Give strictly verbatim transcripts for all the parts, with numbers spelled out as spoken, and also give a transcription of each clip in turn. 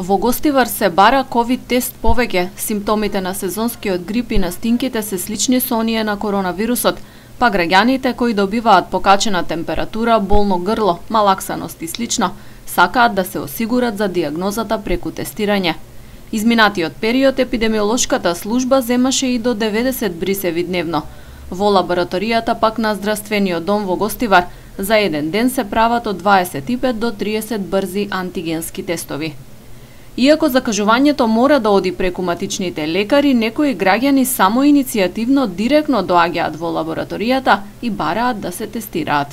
Во Гостивар се бара ковид тест повеќе. Симптомите на сезонскиот грип и настинките се слични со оние на коронавирусот, па граѓаните кои добиваат покачена температура, болно грло, малаксаност и слично, сакаат да се осигурат за диагнозата преку тестирање. Изминатиот период епидемиолошката служба земаше и до деветдесет брисеви дневно. Во лабораторијата пак на здравствениот дом во Гостивар за еден ден се прават од дваесет и пет до триесет брзи антигенски тестови. Иако закажувањето мора да оди преку матичните лекари, некои граѓани само иницијативно директно доаѓаат во лабораторијата и бараат да се тестираат.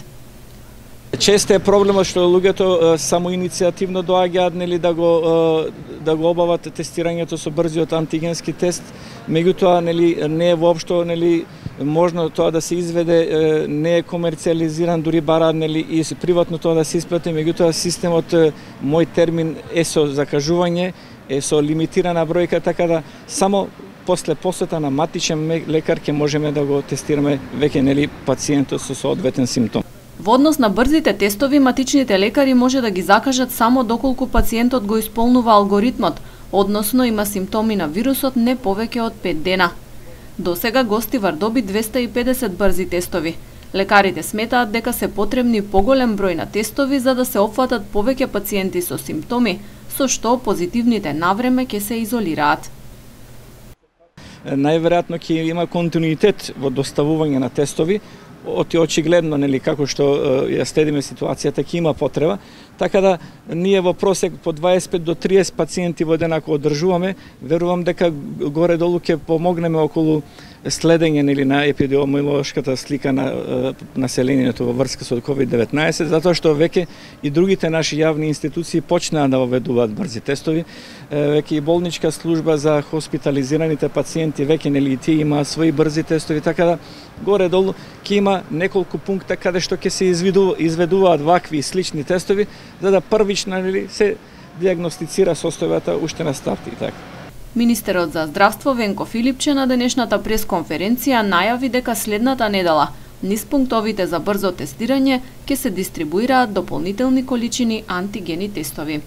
Често е проблемот што луѓето само иницијативно доаѓаат нели да го да го обават тестирањето со брзиот антигенски тест, меѓутоа нели не е воопшто нели можно тоа да се изведе, не е комерцијализиран, дури бараат нели и приватно тоа да се исплати, меѓутоа системот мој термин е со закажување, е со лимитирана бројка, така да само после посета на матичен лекар ќе можеме да го тестираме веќе нели пациентот со соодветен симптом. Во однос на брзите тестови, матичните лекари може да ги закажат само доколку пациентот го исполнува алгоритмот, односно има симптоми на вирусот не повеќе од пет дена. До сега Гостивар доби двесте и педесет брзи тестови. Лекарите сметаат дека се потребни поголем број на тестови за да се опфатат повеќе пациенти со симптоми, со што позитивните навреме ќе се изолираат. Најверојатно ќе има континуитет во доставување на тестови, оти очигледно нели како што ја следиме ситуацијата ќе има потреба, така да ние во просек по дваесет и пет до триесет пациенти во ден ако одржуваме, верувам дека горе долу ќе помогнеме околу следење нели на епидемиолошката слика на населението во врска со ковид деветнаесет, затоа што веќе и другите наши јавни институции почнаа да воведуваат брзи тестови, веќе и болничка служба за хоспитализираните пациенти веќе нели и тие имаат своји брзи тестови, така да горе долу ќе има неколку пункта каде што ќе се изведуваат вакви и слични тестови, за да првично нели се диагностицира состојбата уште на старт и така. Министерот за здравство Венко Филипче на денешната пресконференција најави дека следната недела низ пунктовите за брзо тестирање ќе се дистрибуираат дополнителни количини антигени тестови.